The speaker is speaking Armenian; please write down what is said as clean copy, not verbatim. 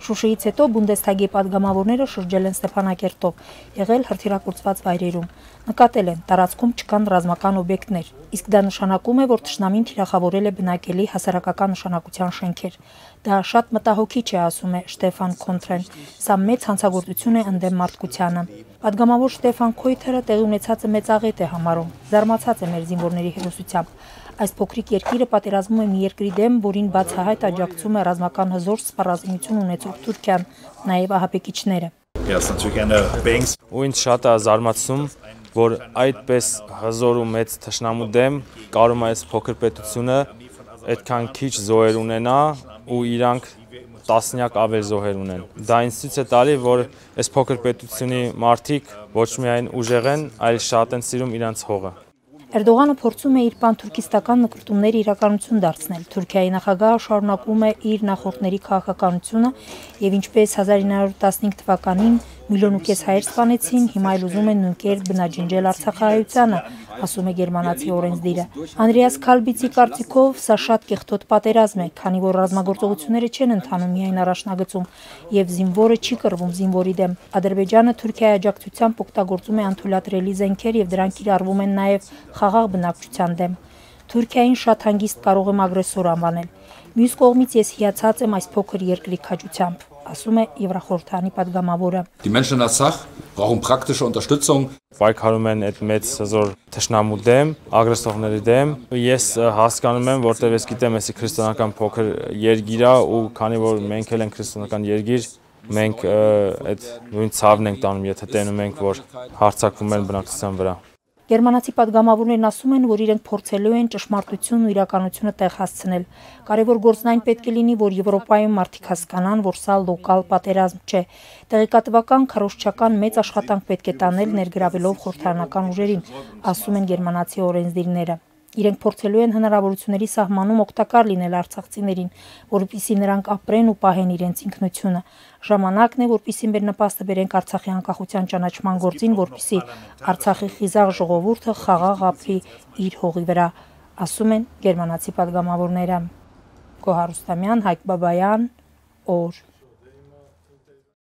Շուշիից հետո Բունդեսթագի պատգամավորները շրջել են Ստեփանակերտով, եղել հրթիռակոծված վայրերում։ Նկատել են, տարածքում չկան ռազմական օբյեկտներ, իսկ դա նշանակում է, որ թշնամին թիրախավորել է բնակելի հասարակական նշանակության շենքեր։ Դա շատ մտահոգիչ է, ասում է Շտեֆան Քոնտրեն։ Սա մեծ հանցագործություն է ընդդեմ մարդկությանը։ Պատգամավոր Շտեֆան Քոյթերը տեղի ունեցածը մեծ աղետ է համարում, զարմացած է մեր զինվորների հերոսությամբ։ Այս փոքրիկ երկիրը պատերազմում է մի երկրի դեմ, որին բացահայտ աջակցում է ռազմական հզոր սպառազինություն ունեցող Թուրքիան, նաև ահաբեկիչները։ Ու ինձ շատ է զարմացնում, որ այդպես հզոր ու մեծ թշնամու դեմ կարում է այս փոքր պետությունը այդքան քիչ զոհեր ունենա ու իրանք տասնյակ ավել զոհեր ունեն։ Դա ինձ ցույց է տալի, որ այս փոքր պետությունի մարդիկ ոչ միայն ուժեղ են, այլ շատ են սիրում իրանց հողը։ Էրդողանը փորձում է իր պանթուրքիստական նկրտումները իրականություն դարձնել։ Թուրքիայի նախագահը շարունակում է իր նախորդների քաղաքականությունը եւ ինչպես 1915 թվականին 1,5 միլիոն հայեր սպանեցին, հիմա էլ ուզում են նույն կերպ բնաջնջել արցախահայությանը, ասում է գերմանացի օրենսդիրը։ Անդրեաս Քալբիցի կարծիքով սա շատ կեղտոտ պատերազմ է, քանի որ ռազմագործողությունները չեն ընթանում միայն առաջնագծում եւ զինվորը չի կռվում զինվորի դեմ։ Ադրբեջանը Թուրքիայի աջակցությամբ օգտագործում է անթույլատրելի զենքեր եւ դրանք կիրառվում են նաեւ խաղաղ բնակչության դեմ։ Թուրքիային շատ հանգիստ կարող եմ ագրեսոր անվանել։ Մյուս կողմից ես հիացած եմ այս փոքր երկրի քաջությամբ, ասում է Եվրախորհրդանի պատգամավորը։ Պայքարում են այդ մեծ հզոր թշնամու դեմ, ագրեսորների դեմ։ Ես հասկանում եմ, որտեղ ես գիտեմ, էսի քրիստոնեական փոքր երկիր է ու քանի որ մենք էլ ենք քրիստոնեական երկիր, մենք այդ նույն ցավն ենք տանում, եթե տենում ենք, որ հարձակվում են բնակչության վրա։ Գերմանացի պատգամավորներն ասում են, որ իրենք փորձելու են ճշմարտությունն ու իրականությունը տեղ հասցնել։ Կարևոր գործն այն պետք է լինի, որ Եվրոպայում մարդիկ հասկանան, որ սա լոկալ պատերազմ չէ։ Տեղեկատվական, քարոզչական մեծ աշխատանք պետք է տանել ներգրավելով խորհրդարանական ուժերին, ասում են գերմանացի օրենսդիրները։ Իրենք փորձելու են հնարավորությունների սահմանում օգտակար լինել արցախցիներին, որպեսզի նրանք ապրեն ու պահեն իրենց ինքնությունը։ Ժամանակն է, որպեսզի մեր նպաստը բերենք Արցախի անկախության ճանաչման գործին, որպեսզի Արցախի խիզախ ժողովուրդը խաղաղ ապրի իր հողի վրա, ասում են գերմանացի պատգամավորները։ Գոհար Ռուստամյան, Հայկ Բաբայան, օր